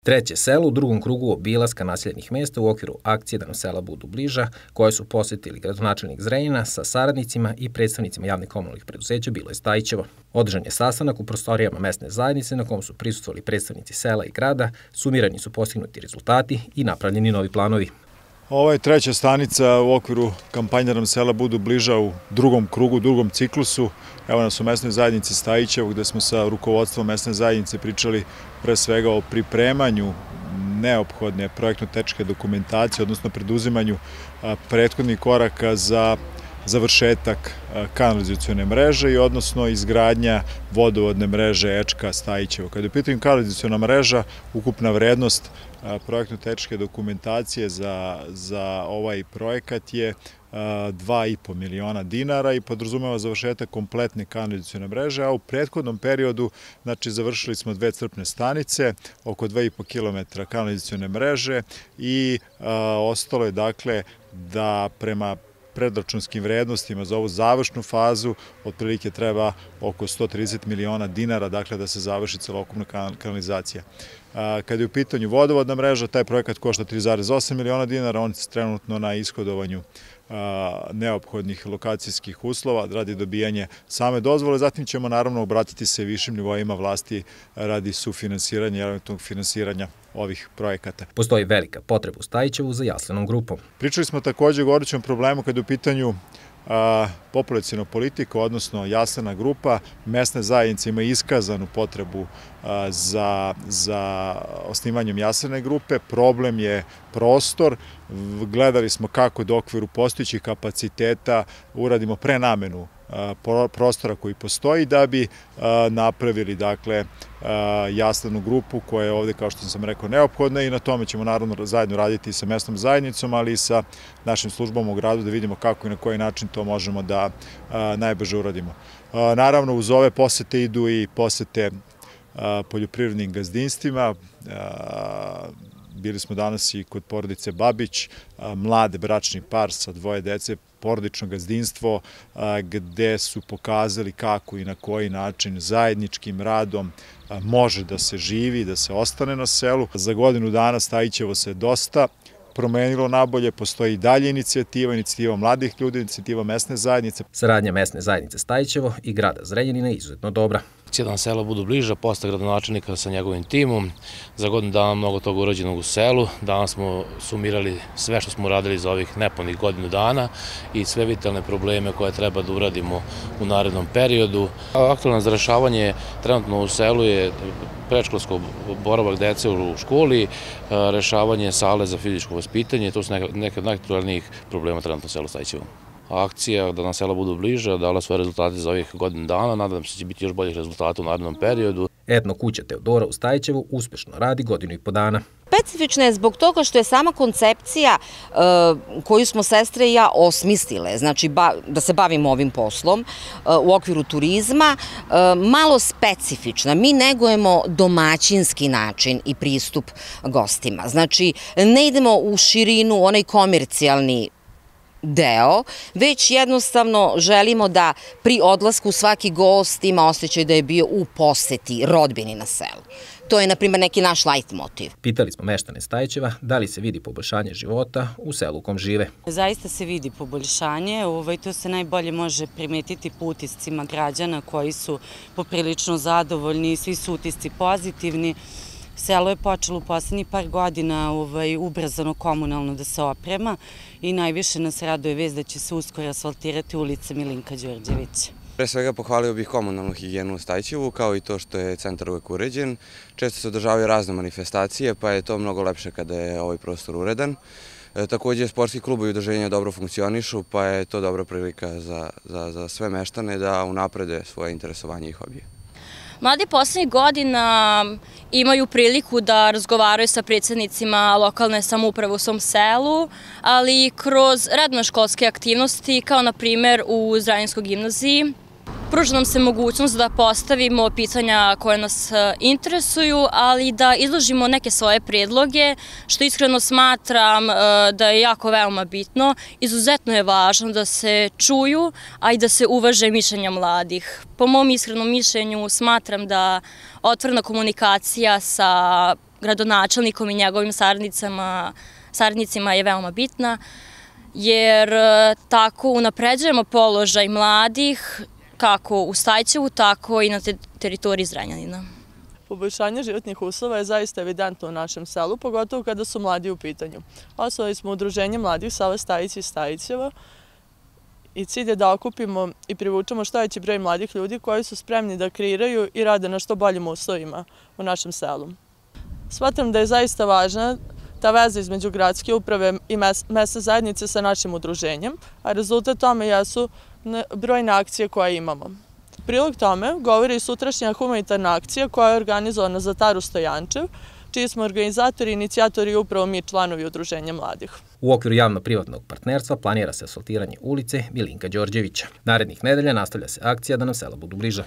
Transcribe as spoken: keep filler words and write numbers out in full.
Treće selo u drugom krugu obilaska naseljenih mesta u okviru akcije Da nam sela budu bliža, koje su posjetili gradonačelnik Zrenjanina sa saradnicima i predstavnicima javnih komunalnih preduzeća, bilo je Stajićevo. Održan je sastanak u prostorijama mesne zajednice na kom su prisustvovali predstavnici sela i grada, sumirani su postignuti rezultati i napravljeni novi planovi. Ovo je treća stanica u okviru kampanje Da nam sela budu bliža u drugom krugu, drugom ciklusu. Evo nas u mesnoj zajednici Stajićevo, gde smo sa rukovodstvom mesne zajednice pričali pre svega o pripremanju neophodne projektno-tehničke dokumentacije, odnosno preduzimanju prethodnih koraka za završetak kanalizacione mreže i odnosno izgradnja vodovodne mreže Ečka Stajićevo. Kada je u pitanju kanalizaciona mreža, ukupna vrednost projektno-tehničke dokumentacije za, za ovaj projekat je dva i po miliona dinara i podrazumeva završetak kompletne kanalizacione mreže, a u prethodnom periodu, znači, završili smo dve crpne stanice, oko dva i po kilometra kanalizacione mreže i a, ostalo je, dakle, da prema predračunskim vrednostima za ovu završnu fazu otprilike treba oko sto trideset miliona dinara, dakle, da se završi celokupna kanalizacija. Kada je u pitanju vodovodna mreža, taj projekat košta tri zarez osam miliona dinara, on je trenutno na ishodovanju neophodnih lokacijskih uslova radi dobijanja same dozvole. Zatim ćemo naravno obratiti se višim nivoima vlasti radi sufinansiranja i eventualnog finansiranja ovih projekata. Postoji velika potreba u Stajićevu za jaslenom grupom. Pričali smo takođe o gorućem problemu kada je u pitanju populaciona politika, odnosno jaslena grupa. Mesne zajednice ima iskazanu potrebu za, za osnivanjem jaslene grupe. Problem je prostor. Gledali smo kako da u okviru postojećih kapaciteta uradimo prenamenu prostora koji postoji da bi napravili, dakle, jaslenu grupu koja je ovde, kao što sam rekao, neophodna i na tome ćemo naravno zajedno raditi sa mesnom zajednicom, ali i sa našim službama u gradu da vidimo kako i na koji način to možemo da najbrže uradimo. Naravno, uz ove posete idu i posete poljoprivrednim gazdinstvima. Bili smo danas i kod porodice Babić, mlade bračni par sa dvoje dece, porodično gazdinstvo gde su pokazali kako i na koji način zajedničkim radom može da se živi, da se ostane na selu. Za godinu dana Stajićevo se dosta promenilo nabolje, postoji i dalje inicijativa, inicijativa mladih ljudi, inicijativa mesne zajednice. Saradnja mesne zajednice Stajićevo i grada Zrenjanina je izuzetno dobra. Da nam sela budu bliža, posle gradonačelnika sa njegovim timom, za godinu dana mnogo toga urađenog u selu. Danas smo sumirali sve što smo uradili za ovih nepunih godinu dana i sve vitalne probleme koje treba da uradimo u narednom periodu. Aktualno za rešavanje trenutno u selu je predškolsko boravak dece u školi, rešavanje sale za fizičko vaspitanje, to su neke od najaktualnijih problema trenutno u selu Stajićevo. Akcija Da nam sela budu bliža dala svoje rezultate za ovih godinu dana, nadam se da će biti još boljih rezultata u narednom periodu. Etno kuća Teodora u Stajićevu uspešno radi godinu i po dana. Specifična je zbog toga što je sama koncepcija koju smo sestre i ja osmislile, znači da se bavimo ovim poslom u okviru turizma, malo specifična. Mi negujemo domaćinski način i pristup gostima. Znači, ne idemo u širinu, onaj komercijalni deo, već jednostavno želimo da pri odlasku svaki gost ima osjećaj da je bio u poseti rodbini na selu. To je, na primjer, neki naš lajt motiv. Pitali smo meštane Stajićeva da li se vidi poboljšanje života u selu u kom žive. Zaista se vidi poboljšanje, to se najbolje može primetiti po utiscima građana koji su poprilično zadovoljni i svi su utisci pozitivni. Selo je počelo u poslednjih par godina ubrzano komunalno da se oprema i najviše nas raduje vest da će se uskoro asfaltirati ulica Milinka Đorđevića. Pre svega pohvalio bih komunalnu higijenu u Stajićevu, kao i to što je centar uvek uređen. Često se održavaju razne manifestacije, pa je to mnogo lepše kada je ovaj prostor uredan. Takođe, sportski klubovi i udruženja dobro funkcionišu, pa je to dobra prilika za sve meštane da unaprede svoje interesovanje i hobije. Mladi poslednjih godina imaju priliku da razgovaraju sa predsednicima lokalne samouprave u svom selu, ali kroz radno-školske aktivnosti, kao na primer u Zrenjaninskoj gimnaziji, pruža nam se mogućnost da postavimo pitanja koje nas interesuju, ali da izložimo neke svoje predloge, što iskreno smatram da je jako veoma bitno. Izuzetno je važno da se čuju, a i da se uvaže mišljenja mladih. Po mom iskrenom mišljenju smatram da otvorena komunikacija sa gradonačelnikom i njegovim saradnicama, saradnicima je veoma bitna, jer tako unapređujemo položaj mladih kako u Stajčevu, tako i na teritoriji Zrenjanina. Poboljšanje životnih uslova je zaista evidentno u našem selu, pogotovo kada su mladi u pitanju. Osnovali smo Udruženje mladih sela Stajić i Stajićevo i cilj je da okupimo i privučemo što veći broj mladih ljudi koji su spremni da kreiraju i rade na što boljim uslovima u našem selu. Smatram da je zaista važna ta veza između gradske uprave i mesne zajednice sa našim udruženjem, a rezultat tome jesu brojne akcije koje imamo. Prilog tome govori i sutrašnja humanitarna akcija koja je organizovana za Taru Stojančev, čiji smo organizatori i inicijatori upravo mi članovi Udruženja mladih. U okviru javno-privatnog partnerstva planira se asfaltiranje ulice Milinka Đorđevića. Narednih nedelja nastavlja se akcija Da nam sela budu bliža.